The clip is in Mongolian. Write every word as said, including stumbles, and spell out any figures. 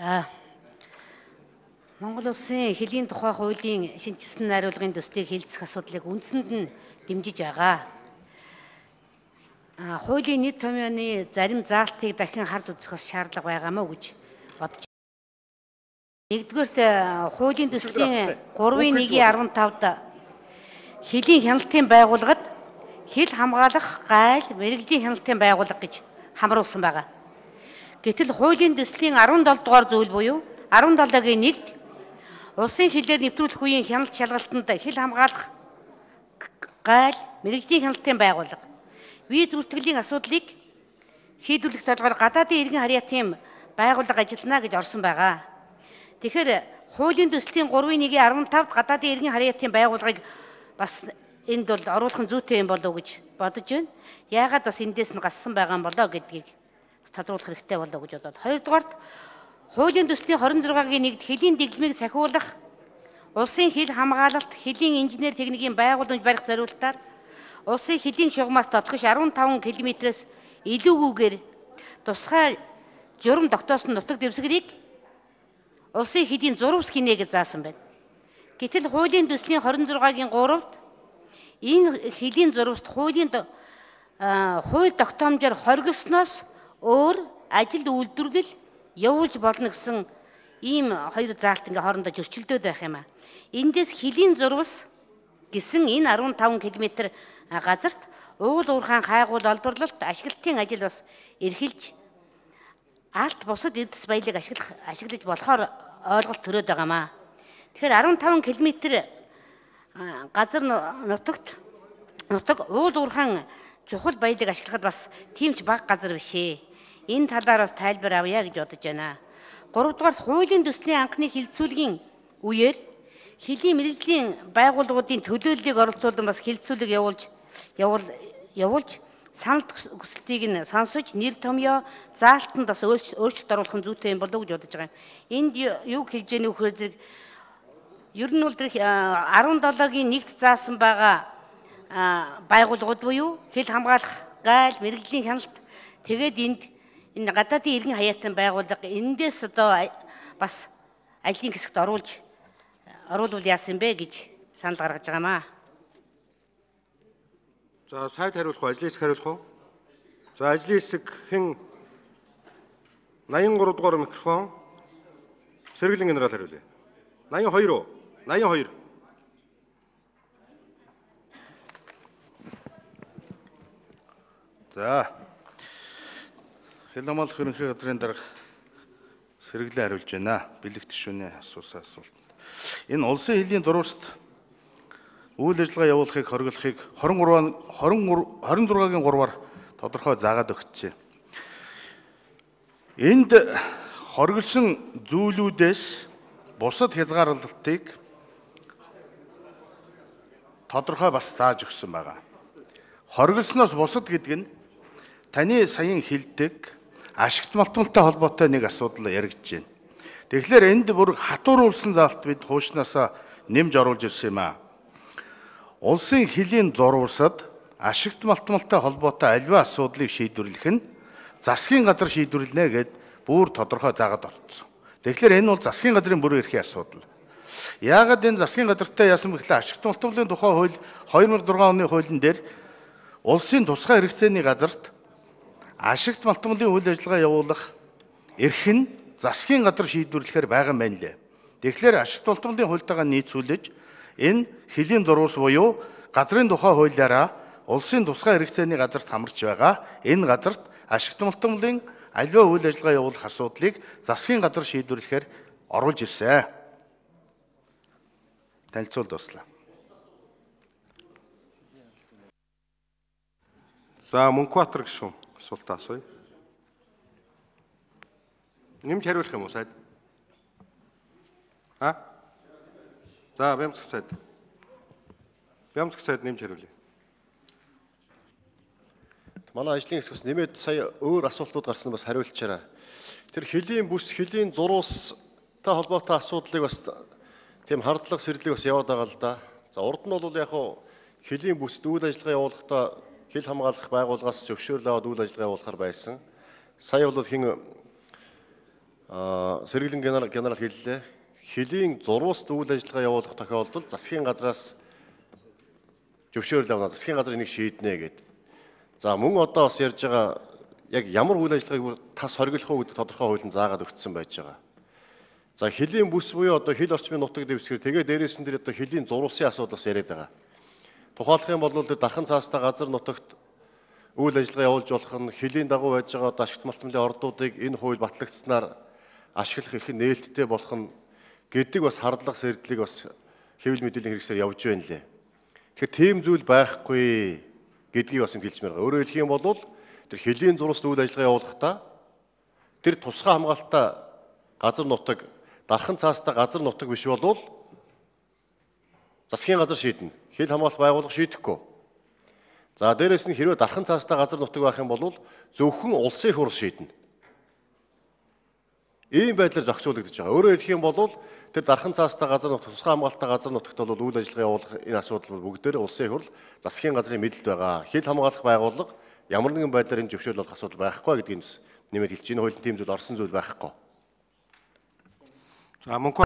За Монгол улсын хэлийн тухай хуулийн шинжилсэн найруулгын төслийг хэлцэх асуудлыг үндсэнд нь дэмжиж байгаа. А хуулийн нийт томьёоны зарим заалтыг дахин хард үзэх бас шаардлага байгаамаа гэж бодож байна. Нэгдүгээрт хуулийн төслийн гурвын нэгийн арван тавд хэлийн хяналтын байгууллагад хил хамгаалах, гайл, мэрэгжлийн хяналтын байгууллага гэж хамруулсан байгаа. Гэтэл хуулийн төслийн арван долоо дугаар зүйл буюу арван долоогийн нэгд улсын хилээр нэвтрүүлэх үеийн хяналт шалгалтанд хил хамгаалах, гайл, мэрэгжлийн хяналтын байгууллага виз бүртгэлийн асуудлыг шийдвэрлэх зорилгоор гадаадын иргэн харьяатын байгууллага ажиллана гэж орсон байгаа. Тэгэхээр хуулийн төслийн гурвын нэгийн арван тавд гадаадын иргэн харьяатын байгууллагыг бас энд бол оруулах зүйтэй юм болов уу гэж бодож байна. Яагаад бас эндээс нь гассан байгаа юм болоо гэдгийг тодруулах хэрэгтэй болоо гэж бодоод. Хоёрдугаарт хуулийн төслийн хорин зургагийн нэгд хэлийн дэглэмийг сахиулах, улсын хил хамгаалалт, хэлийн инженер техникийн байгууламж барих зорилтоор улсын хэлийн шугамаас тодгош арван таван километрээс илүүгүйгээр тусгай журам тогтоосон нутаг дэвсгэрийг улсын хэлийн зурвас хийнэ гэж заасан байна. Гэтэл хуулийн төслийн хорин зургагийн гуравд энэ хэлийн зурваст хуулийн хууль тогтоомжоор хоригдсноос өөр ажил үйлдвэрлэл явуулж болно гэсэн ийм хоёр заалт ингээ хоорондоо зөрчилдөд байх юм а. Эндээс хэлийн зурвас гэсэн энэ арван таван километр газарт уул уурхаан хайгуул олборлолт ашиглалтын ажил бас эрхэлж алт бусад эдс баялаг ашиглах ашиглаж болохоор ойлголт төрөөд байгаамаа. Тэгэхээр арван таван километр газар нутагт нутаг уул уурхаан чухал баялаг ашиглахад бас тийм ч бага газар биш ээ. Энэ талаар бас тайлбар авъя гэж бодож байна. Гуравдугаар хуулийн төслийн анхны хилцүүлгийн үеэр хэлийн мэрэгжлийн байгууллагуудын төлөөллийг оролцуулан бас хилцүүлэг явуулж явуул явуулж санал хүсэлтийг нь сонсож нэр томьёо заалтанд бас өөрчлөлт оруулах нь зүйтэй юм болов уу гэж бодож байгаа юм. Энд юу хэлж яах вэ гэхээр ер нь бол арван долоогийн нэгт заасан байгаа байгууллагууд буюу хил хамгаалах, гайл, мэрэгжлийн хяналт тэгээд энд энэ гадаадын иргэн хаяатын байгууллага эндээс одоо бас ажлын хэсэгт оруулж оруулвал яасан бэ гэж санал гаргаж байгаамаа. За сайд хариулах уу, ажлын хэсэг хариулах уу? За ажлын хэсэг хэн восемьдесят три дугаар микрофон Сэргэлэн генерал хариулъя. восемьдесят two уу? восемьдесят two. За хил хамгаалах ерөнхий газрын дарга Сэргэлэн хариулж байна. Бэлэг тишүүний асуусан асуулт. Энэ улсын хэлийн зурваст үйл ажиллагаа явуулахыг хориглохыг двадцать trois-гийн гурваар тодорхой заагаад өгчээ. Энд хориглосон зүйлүүдээс бусад хязгаарлалтыг тодорхой бас зааж өгсөн байгаа. Хориглосноос бусад гэдэг нь таны саяын хэлдэг ашигт малтмалтай холбоотой нэг асуудал яригдж байна. Тэгэхээр энд бүр хатууруулсан заалт бид хуучнаасаа нэмж оруулж ирсэн юм аа. Улсын хэлийн зурвасад ашигт малтмалтай холбоотой аливаа асуудлыг шийдвэрлэх нь засгийн газар шийдвэрлэнэ гэд бүр тодорхой заагаад орсон. Тэгэхээр энэ бол засгийн газрын бүрэн эрхийн асуудал. Яагаад энэ засгийн газартай яасан бэ гэхэл ашигт малтмалын тухай хууль two thousand six оны хуулийн дээр улсын тусгай хэрэгцээний газарт ашигт малтмалын үйл ажиллагаа явуулах эрх нь засгийн газар шийдвэрлэхээр байгаа юм байна лээ. Тэгэхээр ашигт малтмалын хуультайгаа нийцүүлж энэ хэлийн зурвас буюу газрын тухай хуулиараа улсын тусгай хэрэгцээний газарт хамарч байгаа энэ газарт ашигт малтмалын аливаа үйл ажиллагаа явуулах асуудлыг засгийн газар шийдвэрлэхээр оруулж ирсэн. Танилцуулт дуслаа. За Мөнхбаатар гишүүн асуултаа асууя. Нэмж хариулах юм уу сайд? А? За Бямцгах сайд. Бямцгах сайд нэмж хариулъя. Манай ажлын хэсгээс нэмээд сая өөр асуултууд гарсан бас хариулчаарай. Тэр хэлийн бүс, хэлийн зурвастай холбоотой асуудлыг бас тийм хардлага сэрлэг бас яваад байгаа л да. За урд нь бол яг хуу хэлийн бүсд үйл ажиллагаа явуулахдаа хил хамгаалах байгууллагаас зөвшөөрөл аваад үйл ажиллагаа явуулахар байсан. Сая бол хин Аа сэргэлэн генерал генерал хэллээ. Хөлийн зурвалт үйл ажиллагаа явуулах тохиолдолд засгийн газраас зөвшөөрөл авна. Засгийн газар энийг шийднэ гэдэг. За мөн одоо бас ярьж байгаа яг ямар үйл ажиллагааг тас хориглох уу гэдэг тодорхой хуулийн заагаад өгсөн байж байгаа. За хөлийн бүс буюу одоо хил орчмын нутаг дэвсгэр тэгээ дээрээс нь тэр одоо хөлийн зурвалсын асуудал бас яриад байгаа. Тухайлах юм бол тэр дархан цаастай газар нутагт үйл ажиллагаа явуулж болох нь хөлийн дагуу байж байгаа одоо ашигт малтмлын ордуудыг энэ хууль батлагдсанаар ашиглах их нээлттэй болох нь гэдэг бас хардлага сэрдлийг бас хэвлэл мэдээллийн хэрэгсээр явж байна лээ. Тэгэхээр тийм зүйл байхгүй гэдгийг бас хэлж мээр байгаа. Өөрөөр хэлэх юм бол тэр хөлийн зурвалт үйл ажиллагаа явуулахдаа тэр тусгай хамгаалалтаа газар нутаг дархан цаастай газар нутаг биш болвол засгийн газар шийднэ. Хил хамгаалалт байгуулах шийдэхгүй. За дээрэс нь хэрвээ дархан цаастай газар нутаг байх юм бол зөвхөн улсын хурл шийднэ. Ийм байдлаар зохицуулагдаж байгаа. Өөрөөр хэлэх юм бол тэр дархан цаастай газар нутаг, тусгай хамгаалалттай газар нутагт бол үйл ажиллагаа явуулах энэ асуудал бол бүгдээр улсын хурл, засгийн газрын мэдэлд байгаа. Хил хамгаалах байгууллага ямар нэгэн байдлаар энэ зөвшөөрөл болох асуудал байхгүй гэдгийг нэмээд хэлж байна. Хуулийн тийм зүйл орсон зүйл байхгүй. За мөнхөө